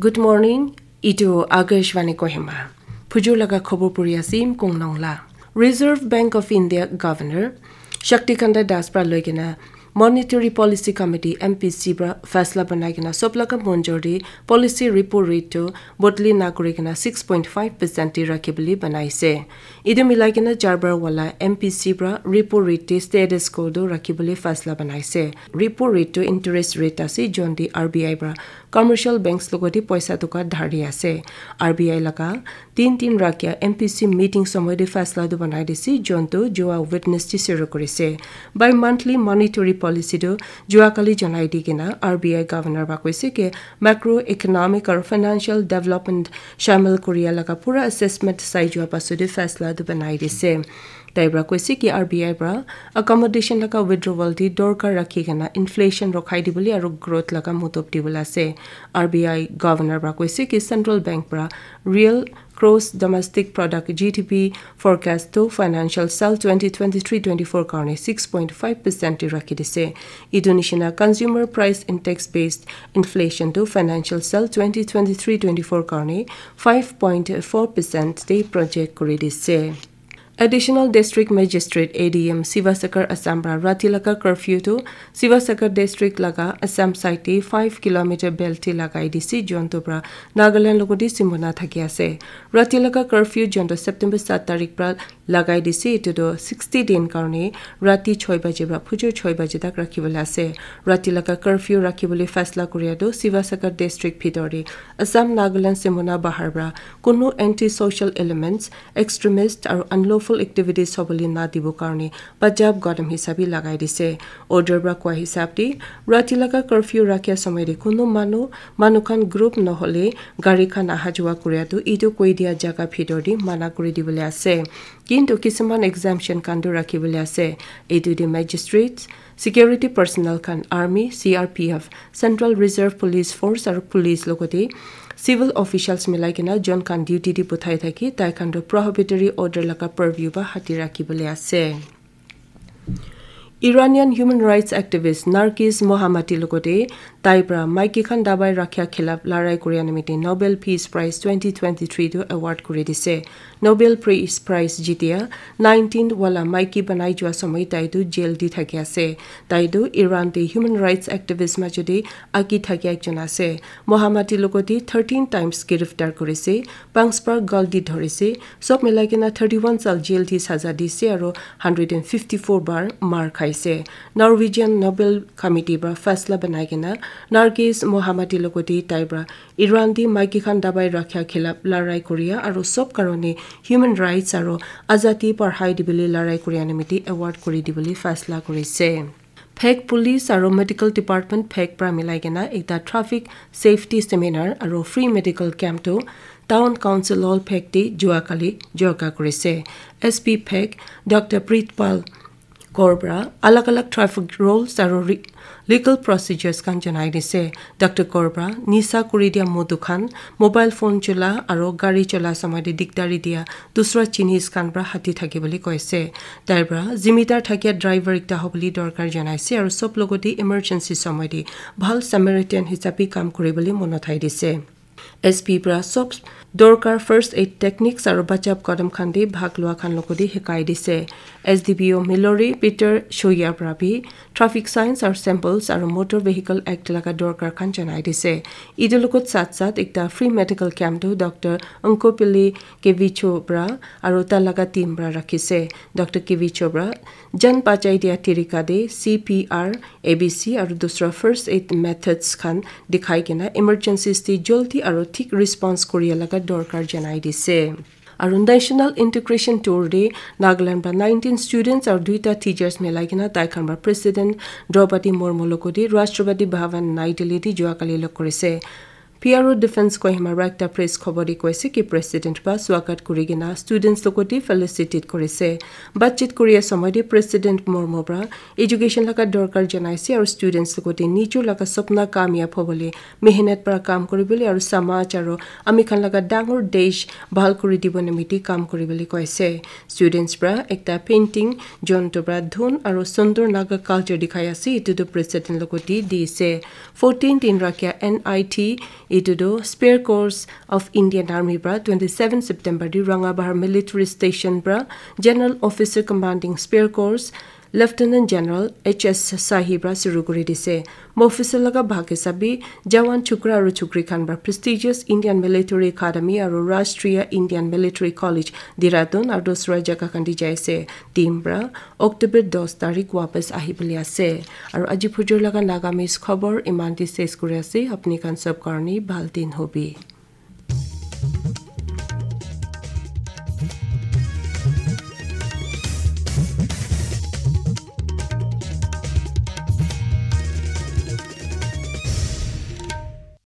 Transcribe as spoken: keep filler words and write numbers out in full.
Good morning. Itu Akashvani Kohima. Phujur laga khobor puri asim kong nong la. Reserve Bank of India Governor Shaktikanta Das pra loi kena Monetary Policy Committee, M P C, pra faisla banai kena sob laga monjor di policy repo rate tu bodli na kuri kena six point five percent di rakhi bole banai se. Itu milai kena char bar wala M P C pra repo rate di status quo tu rakhi bole faisla banai se. Repo rate tu interest rate ase, jon di R B I pra commercial banks logot di poisa toka dhari ase. R B I laga tin tin rakhia M P C meeting somoy de faisla tu banai dise, jon tu jua Wednesday shuru kurise. Bi monthly monetary policy tu jua kali janai di kena R B I governor pra koise ke macroeconomic aru financial development shamil kuria laga pura assessment sai jua pasu de faisla tu banai dise. Tai pra koise ki R B I pra accommodation laga withdrawal di dorkar rakhi kena inflation rokhai di bole aru growth laga motop di bole ase. R B I governor pra koise ki central bank pra real gross domestic product, G D P, forecast tu financial sal twenty twenty-three twenty-four karne six point five percent di rakhi dise. Itu nishina consumer price index based inflation tu financial sal twenty twenty-three twenty-four karne five point four percent di project kuri dise. Additional District Magistrate, A D M, Sivasagar, Assam pra rati laga curfew tu Sivasagar District laga Assam side te five kilometer belt te lagai dise, jonto pra Nagaland logot di simona thaki ase. Rati laga curfew jonto September sat tarik pra lagai dise, itu tu sixty din karne rati choi baje pra phujur choi baje tak rakhi bole ase. Rati laga curfew rakhi bole faisla kuria tu Sivasagar District bhitor te Assam Nagaland simona bahar pra kunu anti-social elements, extremist aru unlawful activities hobole na dibo karne bachap kadam hisab bi lagai dise. Order pra koa hisab di rati laga curfew rakhia somoy de kunu manu, manu khan group nohole gari khan aha jua kuria tu itu koi dia jaga bhitor de mana kuri dibole ase. Kintu kisuman exemption khan tu rakhi bole ase. Itu de magistrates, security personnel khan, army, C R P F, Central Reserve Police Force aru police logot te civil officials milai kena jon khan duty di puthai thaki tai khan tu prohibitory order laga purview ba hati rakhi bole ase. Iranian human rights activist Nargis Mohammadi logot te tai pra maiki khan dabai rakhia khilaf larai kuria nimite Nobel Peace Prize twenty twenty-three tu award kuri dise. Nobel Peace Prize jitia nineteen wala maiki banai jua somoy tai tu jail di thaki ase. Tai tu Iran te human rights activist majo de aki thaki ekjon ase. Mohammadi logot te thirteen times giriftar kurise, panch bar gal di dhorise, sob milai kena thirty-one sal jail di saza dise aru hundred and fifty-four bar mar khaise. Norwegian Nobel Committee pra faisla banai kena Nargis Mohammadi logot te tai pra Iran di maiki khan dabai rakhia khilaf larai kuria aru sob karone human rights aru azadi parhai dibole larai kuria nimite award kuri dibole faisla kurise. Phek Police aru Medical Department Phek pra milai kena ekta traffic safety seminar aru free medical camp tu Town Council Hall Phek te jua kali jorka kurise. S P Phek Doctor Pritpal Kaur pra alag alag traffic rules aru re-, legal procedures khan janai dise. Doctor Kaur pra nisa kuri dia modu khan, mobile phone chola aru gari chola somoy de dikdari dia dusra jinis khan pra hati thaki bole koise. Tai pra zimidar thakia driver ekta hobole dorkar janaise aru sob logot te emergency somoy de bhal Samaritan hisabe kam kuri bole mon uthai dise. S P pra sob dorkar first aid techniques aru bachap kadam khan de bhag lua khan logot de hikai dise. S D P O Milori Peter Shoya pra bi traffic signs aru symbols aru Motor Vehicle Act laga dorkar khan janai dise. Itu logot sat sat ekta free medical camp tu Doctor Onkopili Kevicho pra aru ta laga team pra rakhise. Doctor Kevicho pra jan bachai dia tarika de C P R, A B C aru dusra first aid methods khan dikhai kena emergencies te joldi aru thik response kuria laga dorkar janai dise. Aru National Integration Tour de Nagaland pra nineteen students aru duita teachers milai kena tai khan pra President Draupadi Murmu logot te Rashtrapati Bhavan Nai Delhi te jua kali log kurise. P R O Defense Kohima pra ekta press khobor de koise ki President pra swagat kuri kena students logot te felicitate kurise. Batchit kuria somoy de President Murmu pra education laga dorkar janaise aru students logot te nijor laga sapna kamyab hobole mehnat pra kam kuri bole aru samaj aru ami khan laga dangor desh bhal kuri dibo nimite kam kuri bole koise. Students pra ekta painting jonto pra dhun aru sundur Naga culture dikhai ase, itu tu President logot te dise. Fourteen din rakhia N I T Etu tu Spear Corps of Indian Army para twenty seven September di Rangabahar Military Station para General Officer Commanding Spear Corps Lieutenant General H S Sahi para shuru kuri dise. Officer laga bhag hisabe jawan chukra aru chukri khan para prestigious Indian Military Academy aru Rashtriya Indian Military College Dehradun aru dusra jaga khan te jai ase. Team para October dos tarik wapas ahi bole ase. Aru aji phujur laga Nagamese khobor iman te ses kuri ase. Apni khan sab karne bhal din hobi.